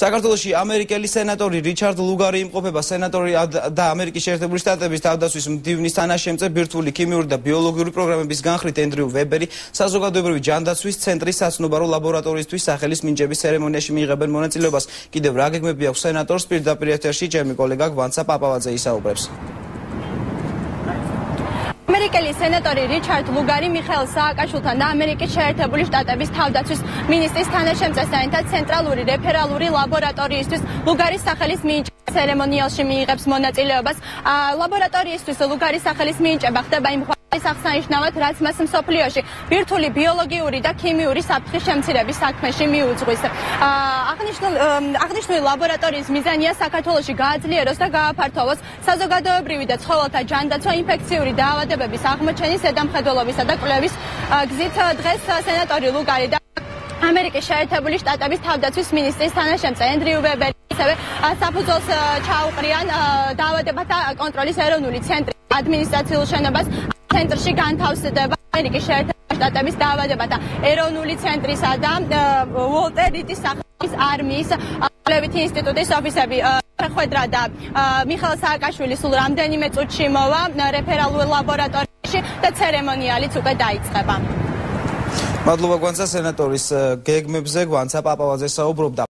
საქართველოში ამერიკელი სენატორი რიჩარდ ლუგარი იმყოფება სენატორი და ამერიკის შეერთებული შტატების თავდაცვის მდივნის თანაშემწე ბირთვული ქიმიური და ბიოლოგიური პროგრამების განხრით ენდრიუ ვებერი საზოგადოებრივი ჯანდაცვის ცენტრის საცნობარო ლაბორატორიისთვის სახელის მინიჭების ცერემონიაში მიიღებენ მონაწილეობას. კიდევ რა გეგმები აქვს სენატორს პირდაპირ ეთერში ჩემი კოლეგა გვანცა პაპავაძე ისაუბრებს. ამერიკელი სენატორი რიჩარდ ლუგარი მიხეილ სააკაშვილთან და ამერიკის შეერთებული შტატების თავდაცვის მინისტრის თანაშემწესთან ერთად ცენტრალური რეფერალური ლაბორატორიისთვის ლუგარის სახელის მინიჭების ცერემონიალში მიიღებს მონაწილეობას. ლაბორატორიისთვის ლუგარის სახელის მინიჭება ხდება იმ აღსანიშნავად, რაც მას მსოფლიოში ბირთვული ბიოლოგიური და ქიმიური საფრთხის შემცირების საქმეში მიუძღვის. აღნიშნული ლაბორატორიის მიზანია საქართველოში გააძლიეროს და გააფართოვოს საზოგადოებრივი და ცხოველთა ჯანდაცვა ინფექციური დაავადებების აღმოჩენის ზედამხედველობისა და კვლევის გზით. დღეს სენატორი ლუგარი და ამერიკის შეერთებული შტატების თავდაცვის მინისტრის თანაშემწე ენდრიუ ვებერი ასევე საფუძველს ჩაუყრიან დაავადებათა კონტროლის ეროვნული ცენტრის ადმინისტრაციულ შენობას. ცენტრში განთავსდება ამერიკის შეერთებული შტატების დაავადებათა ეროვნული ცენტრისა და უოლტერ რიტის სახელობის არმიის კვლევითი ინსტიტუტის ოფისები. ხვედრა და მიხეილ სააკაშვილი სულ რამდენიმე წუთში მოვა რეფერალურ ლაბორატორიაში და ცერემონიალიც უკვე დაიწყება. მადლობა გვანცა სენატორის გეგმებზე გვანცა პაპავაძე საუბრობდა.